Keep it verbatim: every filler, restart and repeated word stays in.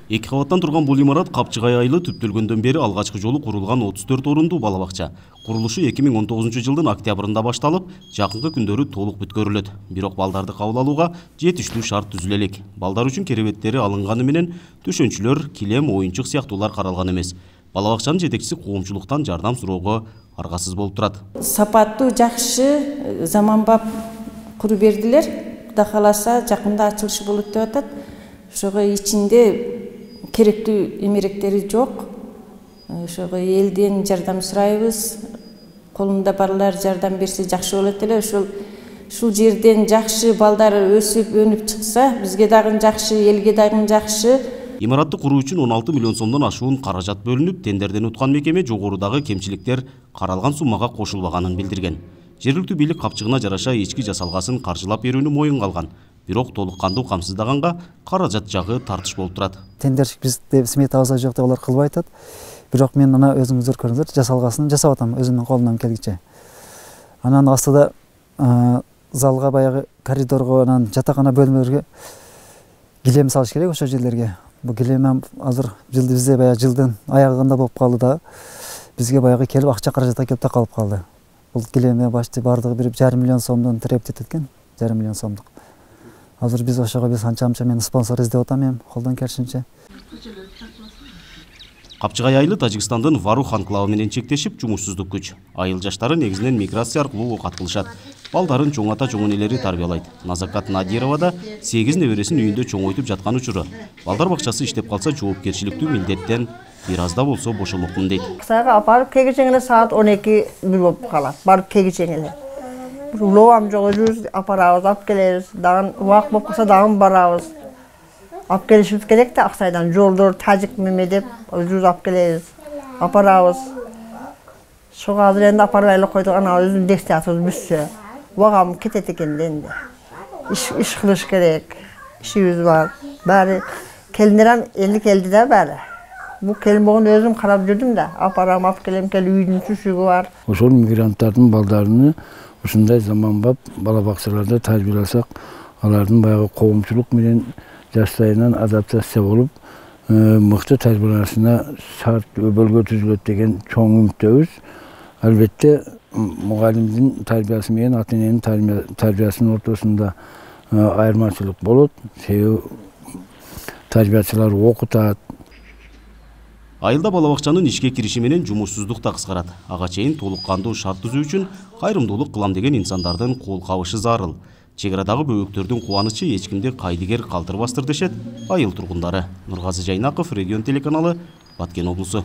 Эки кабаттан турган бул имарат Капчыгай айылы түптөлгөндөн бери алгачкы жолу курулган отуз төрт орундуу бала бакча. Курулушу эки миң он тогузунчу жылдын октябрында башталып, жакынкы күндөрү толук бүткөрүлөт. Бирок балдарды кабыл алууга жетиштүү шарт түзүлө элек. Балдар үчүн керебеттери алынганы менен төшөнчүлөр, килем, оюнчук сыяктуулар каралган эмес. Бала бакчанын жетекчиси коомчулуктан жардам суроого аргасыз болуп турат. Сапаттуу, жакшы, заманбап куруп бердилер. Кудай кааласа жакында ачылышы болот деп атат. Ошого ичинде керектүү эмеректери жок. Ошого элден жардам сурайбыз. Колунда барлар жардам берсе жакшы болот эле. Ошол ушул жерден жакшы балдар өсүп, өнүп чыкса, бизге дагы жакшы, элге дагы жакшы. Имаратты куруу үчүн он алты миллион сомдон ашуун каражат бөлүнүп, тендерден уткан мекеме жогорудагы кемчиликтер каралган суммага кошулбаганын билдирген. Жергиликтүү бийлик капчыгына жараша ички жасалгасын каржылап берүүнү моюнга алган. Бирок толук кандуу камсыздаганга каражат жагы тартыш болуп турат. Тендерчик бизде сметабызда жок деп алар кылбай атат. Бирок мен ана өзүңүздөр көрүңүздөр, жасалгасын жасап атам өзүмдүн колумдан келгиче. Анан астыда залга, баягы коридорго, анан жатакана бөлмөлөргө килем салыш керек ошол жерлерге. Бул килем азыр жылды бизде баягы жылдын аягында болуп калды да. Бизге баягы келип акча каражат келип такалып калды. Бул килемге башты бардыгы бир жарым миллион сомдон требет экен, жарым миллион сомдук. Азыр биз ошого биз анча-мынча мен спонсор издеп атам эми, колдон келишинче. Капчыгай айылы Тажикстандын Варух анклавы менен чектешип, жумушсуздук күч. Айыл жаштары негизинен миграция аркылуу окат кылышат. Балдарын чоң ата чоң энелери тарбиялайт. Назакат Надирова да сегиз небересин үйүндө чоңойтуп жаткан учуру. Балдар бакчасы иштеп калса, жоопкерчиликтүү милдеттен бир аз да болсо бошолмокмун дейт. Кысага апарып кегичең эле саат он эки бир болуп калат. Барып кегичең эле. Улоом жок жүз апарабыз, алып келебиз. Дагы убак болуп калса дагы барабыз. Алып келишибиз керек да Аксайдан жолдор тажик меме деп жүз алып келебиз. Апарабыз. Шуга азыр энди апарбай эле койдук, ана өзүнүн дестиятыбыз бүссө. Убагам кетет экен энди. Иш иш кылыш керек. Ишибиз бар. Баары келиндер элди келди да баары. Бу келин болгон өзүм карап жүрдүм да. Апарам, алып келем, кел үйдүн түшүгү бар. Ошол мигранттардын балдарыны ушундай заманбап бала бакчаларда тарбияласак, алардын баягы коомчулук менен жаштайынан адаптация болуп, мыкты тарбияланышына шарт өбөлгө түзүлөт деген чоң үмүттөбүз. Албетте мугалимдин тарбиясы менен ата эненин тарбиясынын ортосунда айырмачылык болот. Себеби тарбиячылар окутат. Айылда бала бакчанын ишке кириши менен жумушсуздук да кыскарат. Ага чейин толук кандуу шарт түзүү үчүн кайрымдуулук кылам деген инсандардын кол кабышы зарыл. Чек арадагы бөбөктөрдүн кубанычы эч кимди кайдыгер калтырбастыр дешет айыл тургундары. Нургазы Жайнаков, Регион телеканалы, Баткен облусу.